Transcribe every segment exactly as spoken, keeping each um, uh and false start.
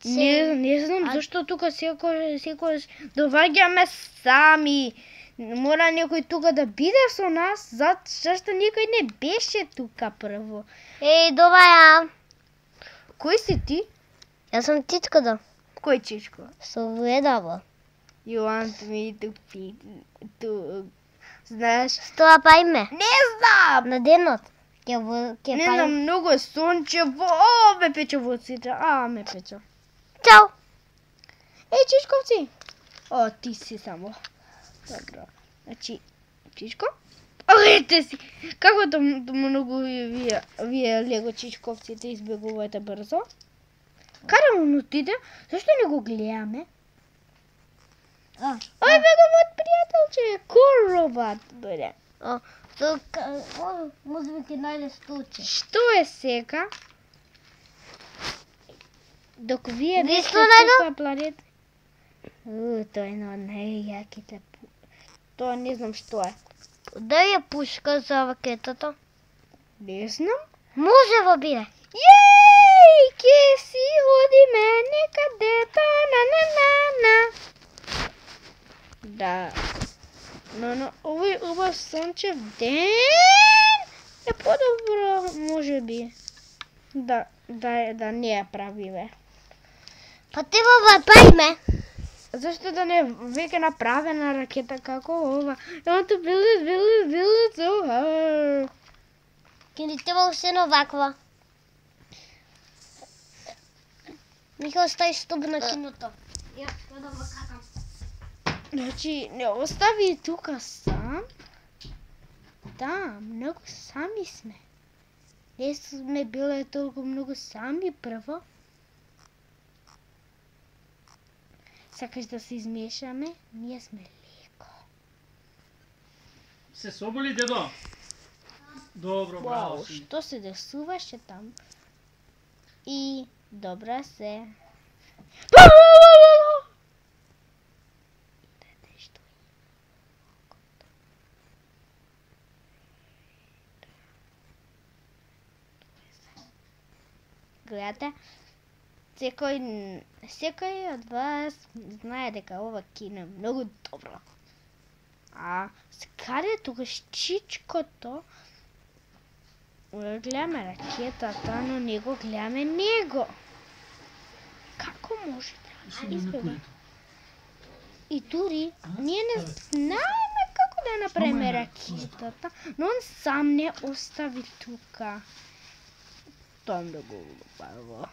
Не, не знам зашто тука секој секој доваѓаме сами. Мора некој тука да биде со нас, зашто никој не беше тука прво. Еј, доваја. Кој си ти? Јас сум Чичкото. Кој Чичко? Со ведаво. You want me to feed to... Знаеш? Што па име? Не знам! На денот. Ке во ке Не па. знам, многу е сончево. О, ме пече во очите. А, ме пече. Чао. Еј, Чичковци. О, ти си само. Добро. Значи, Чичко? Ете си! Како да многу вие, вие лего Чичковците избегувате брзо? Каде он отиде? Зашто не го гледаме? А, Ој, неговот пријателче, коробат, бре. О, то о, може би ќе најде столче. Што е сега? Док вие Ви бевте што најдов? тука планета... У, тоа е едно од најјаките... Тоа не знам што е. Дај ја пушка за ракетата. Не знам. Може во биде. Јеј, ке си одиме некаде та на на на на. Да. Но на овој убав сончев ден е подобро, може би. Да, да, да не ја правиме. Па ти во пајме. Зашто да не е веќе направена ракета како ова? I want to build it, build it, build it so hard. Ке ни треба уште ваква. Нека остави ступ на киното. Ја, ја да вакатам. Значи, не остави тука сам. Да, многу сами сме. Не сме биле толку многу сами прво. Сакаш да се измешаме? Ние сме леко. Се соболи, дедо? Добро, браво Вау, си. што се десуваше там? И добра се. Гледате, секој, секој од вас знае дека ова кино е многу добро. А каде е тогаш Чичкото? Гледаме ракетата, но не го гледаме него. Како може да избега? И дури, ние не знаеме како да направиме ракетата, но он сам не остави тука. Тоа да го убаво.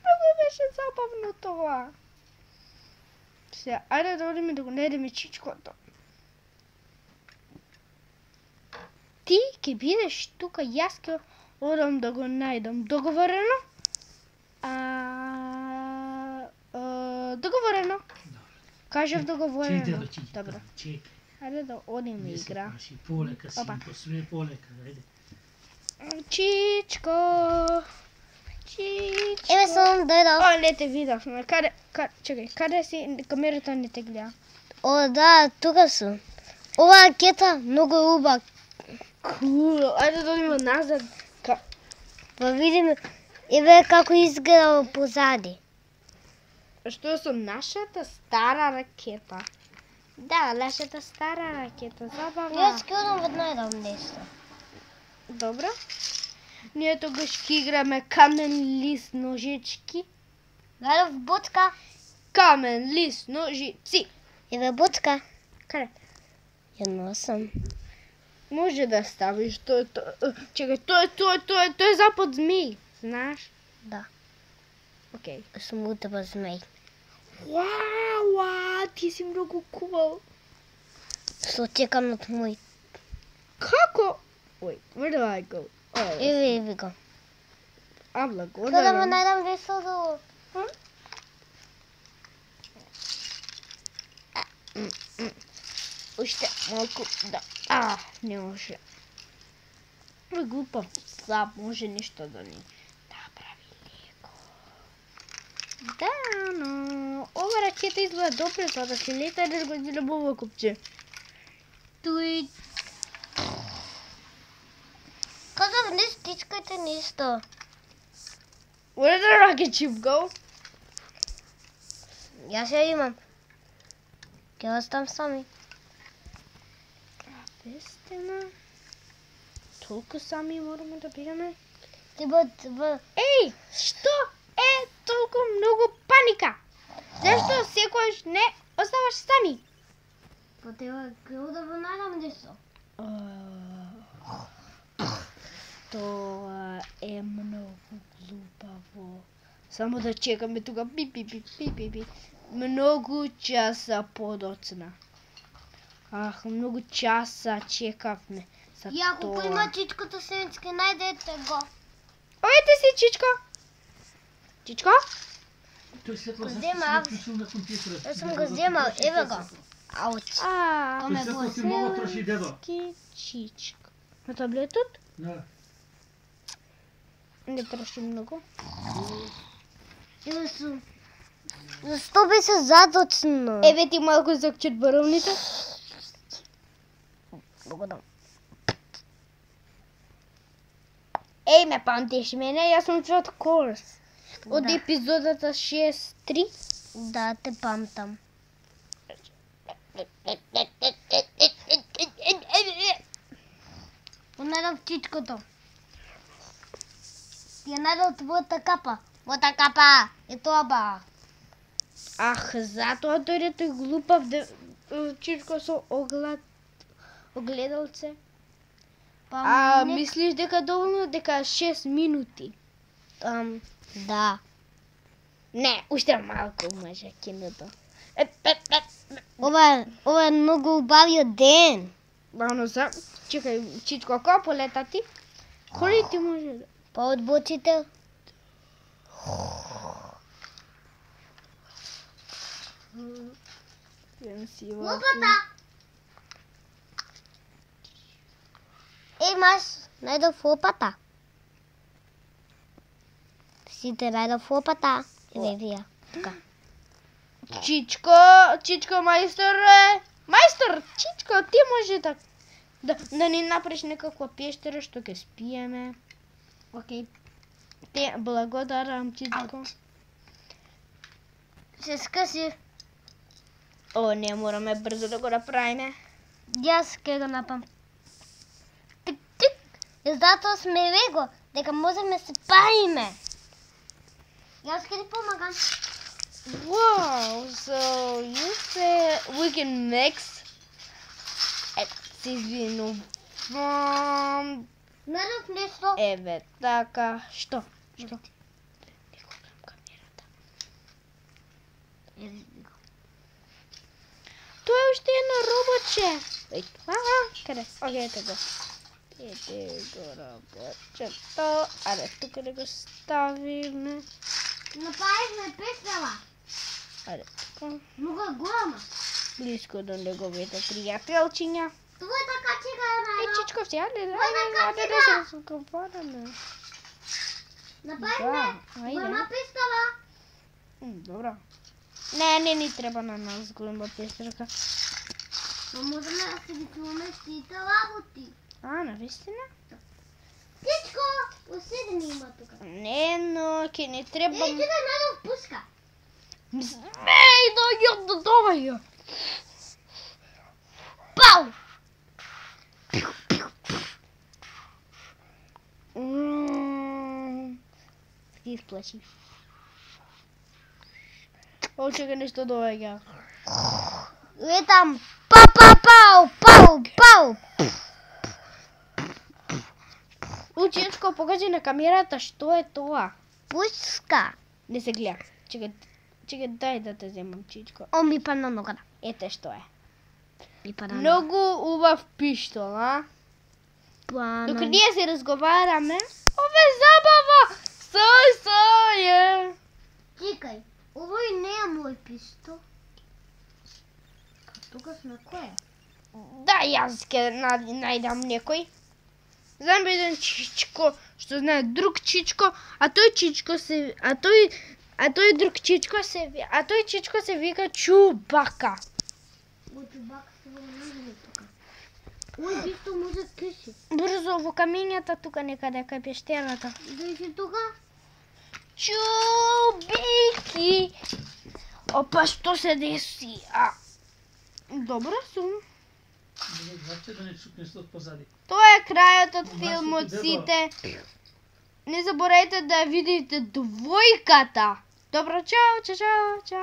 Много беше забавно тоа. Се, ајде да одиме да го најдеме Чичкото. Ти ќе бидеш тука, јас ќе одам да го најдам. Договорено? А, а договорено. Кажав договорено. Добро. Ајде да одиме игра. Полека, Опа. синко, све полека, ајде. Чичко. Чичко. Еве сум дојдов. О, не те видов. Каде, каде, чекај, каде си? Камерата не те гледа. О, да, тука сум. Ова ракета многу уба. Кул. Ајде да одиме назад. Ка... Па видиме, еве како изгледа позади. Што е со нашата стара ракета? Да, нашата стара ракета. Забавна. Јас ќе одам во најдам нешто. Добро. Ние тогаш ќе играме камен, лист, ножички. Најдов бутка. Камен, лист, ножици. Еве бутка. Каде? Ја носам. Може да ставиш тој, тој, чекај, тој, тој, тој, тој е запад змеј, знаеш? Да. Окей. Сум утеба змеј. Вау, ти си многу кул. Со чеканот мој. Како? Wait, where do I go? Oh, Еве, еве го. а, благодарам. Кога ме најдам весело. Уште малку, да. А, не може. Ой, глупав слаб, може нешто да ни направи леко. Да, но ова ракета изгледа добре за да се лета, да го изгледа во купче. Туј. Не стискайте ништо. Where did the rocket ship go? Јас ја имам. Ќе оставам сами. Вистина. Толку сами мораме да бидеме. Ти бот в Еј, што е толку многу паника? Зашто секојаш не оставаш сами? Па треба као да го најдам нешто. Тоа е многу глупаво. Само да чекаме тука пи пи пи пи пи пи. Многу часа подоцна. Ах, многу часа чекавме за И ако тоа. има чичкото семички, најдете го. Овете си, Чичко. Чичко? Тој светло Го зашто земав. си вклучил на компјутерот? Јас сум го земал, еве го. Ауч. А, То Тој ме светло бои. си многу троши дедо. ки Чичко. На таблетот? Да. Не троши многу. Еве сум. Зашто би се задочно? Еве ти малку закчет баровните. Благодарам. Еј, ме памтиш мене, јас сум чот курс. Од Да. епизодата шест три. Да, те памтам. Најдов чичкото. Ја најдов твојата капа. Твојата капа. Е тоа ба. Ах, затоа дојде тој глупав де, Чичко со оглед, огледалце. Па А не- мислиш дека доволно дека шест минути? Ам, да. Не, уште малку може киното. Е, е, е. Ова е, ова е многу убавиот ден. Бано за, чекај, Чичко, како полета ти? Коли ти може да? Па одбочите. Лопата. Еј, маш, најдов лопата. Сите најдов лопата. Еве вија. Тука. Чичко, Чичко мајстор е. Мајстор, Чичко, ти може да да, да ни направиш некаква пештера што ќе спиеме. Океј. Те благодарам, Чичко. Се скъси. О, не мораме брзо да го направиме. Јас ке го напам. Тик, тик. И затоа сме вего, дека можеме се паиме. Јас ке ти помагам. Wow, so you say we can mix it сизвино from Најдов нешто. еве така, што? Што? Не го гледам камерата. Еве го. Тоа е уште едно роботче. Еј, ага, каде? Океј, ете го. Ете го роботчето. Аре, тука да го ставиме. Направивме песела. Аре, тука. Многу е голема. Близко до неговите пријателчиња. Твојата качига е Е, најдов. Чичко, сега не да, Ой, на аде да кацина! се разговараме. Направивме Да, ајде. голема пестела. М, Добро. Не, не ни треба на нас голема пестерка. Но можеме да си ги чуваме сите работи. А, навистина? Тичко, оседи ми има тука. Не, но ќе ни треба... Еј, чекај, најдов пушка. Еј, дојде до доваја. Пау! М, Ти исплачи. О, чека нешто доаѓа. Летам. Па, па, пау, пау, пау. Ученчко, покажи на камерата што е тоа. Пушка. Не се гледа. Чекај, чекај, дај да те земам, Чичко. О, ми падна ногата. Ете што е. Ми падна Многу убав пиштол, а? ногата. Докато ние се разговараме, ова е забава! Сој, сој е! Чекај, овој не е мој пистол. Тука сме која? Да, јас ќе на- најдам некој. Знам еден Чичко, што знае друг Чичко, а тој Чичко се... А тој... А тој друг Чичко се... ви- А тој Чичко се вика Чубака. Ој чубак се во нагне тука. Ој пистол може кеши. Бе, брзо во камињата тука некаде кај пештерата. Дојди тука. Чубики. Опа, што се деси? А, добро сум. Заче да не чукнеш од позади. Тоа е крајот од Нашето филмот, дебо. сите. Не заборавајте да видите двојката. Добро, чао, чао, чао, чао.